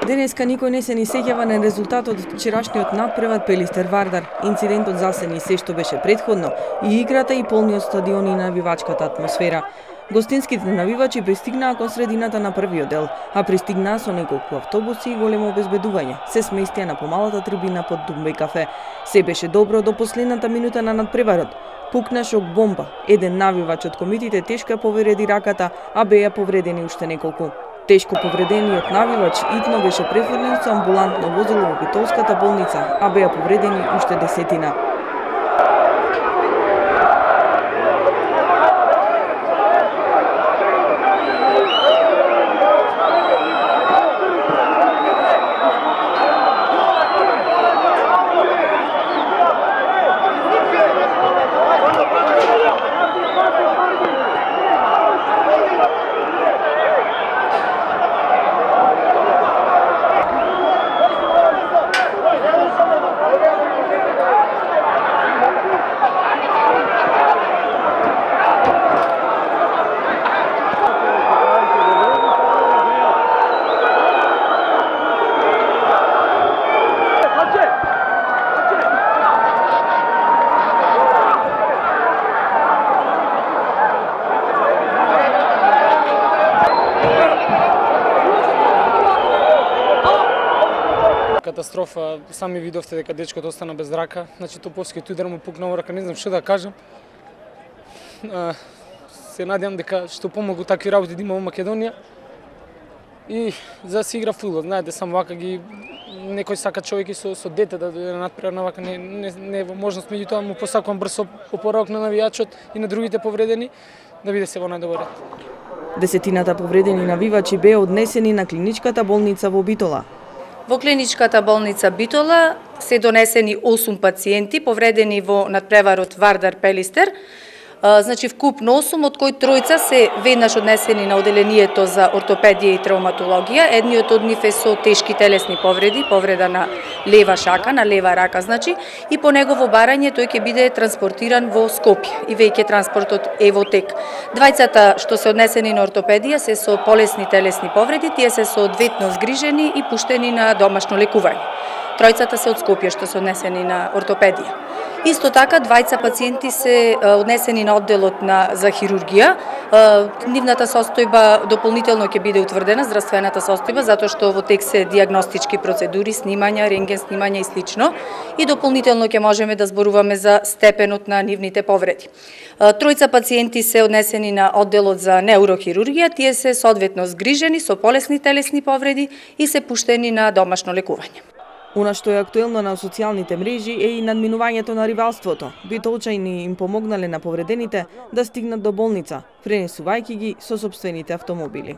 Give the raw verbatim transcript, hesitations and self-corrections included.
Денеска никој не се ни сеќава на резултатот од вчерашниот надпревар Пелистер Вардар. Инцидентот засени се што беше претходно и играта и полниот стадион и навивачката атмосфера. Гостинските навивачи пристигнаа кон средината на првиот дел, а пристигнаа со неколку автобуси и големо обезбедување. Се сместија на помалата трибина под Думбеј кафе. Се беше добро до последната минута на надпреварот. Пукна шок бомба. Еден навивач од комитите тешко ја повреди раката, а беа повредени уште неколку. Тешко повредениот навивач итно беше префрлен со амбулантно возило во Битолската болница, а беа повредени уште десетина. Катастрофа, сами видовте дека дечкото остана без рака, значи топовскиот удар му пукна во рака, не знам што да кажам. Се надевам дека што помогу такви работи да има во Македонија. И за да се игра фудбал, знаете, само вака ги некој сака човек и со со дете да дојде на надпревар, на вака не не не е во можност, меѓутоа му посакувам брз опоравок на навијачот и на другите повредени да биде се во најдобар ред. Десетината повредени навивачи беа однесени на клиничката болница во Битола. Во клиничката болница Битола се донесени осум пациенти повредени во надпреварот Вардар Пелистер. Значи вкупно осум, од кои тројца се веднаш однесени на оделението за ортопедија и травматологија. Едниот од нив е со тешки телесни повреди, повреда на лева шака, на лева рака, значи, и по негово барање тој ќе биде транспортиран во Скопје и веќе транспортот е во тек. Двајцата што се однесени на ортопедија се со полесни телесни повреди, тие се со одветно згрижени и пуштени на домашно лекување. Тројцата се од Скопје што се однесени на ортопедија. Исто така, двајца пациенти се однесени на одделот на за хирургија. Нивната состојба дополнително ќе биде утврдена, здравствената состојба, затоа што во тек се дијагностички процедури, снимања, рентген снимања и слично. И дополнително ќе можеме да зборуваме за степенот на нивните повреди. Тројца пациенти се однесени на одделот за неурохирургија, тие се соодветно згрижени со полесни телесни повреди и се пуштени на домашно лекување. Она што е актуелно на социјалните мрежи е и надминувањето на ривалството. Битолчани им помогнале на повредените да стигнат до болница, пренесувајќи ги со сопствените автомобили.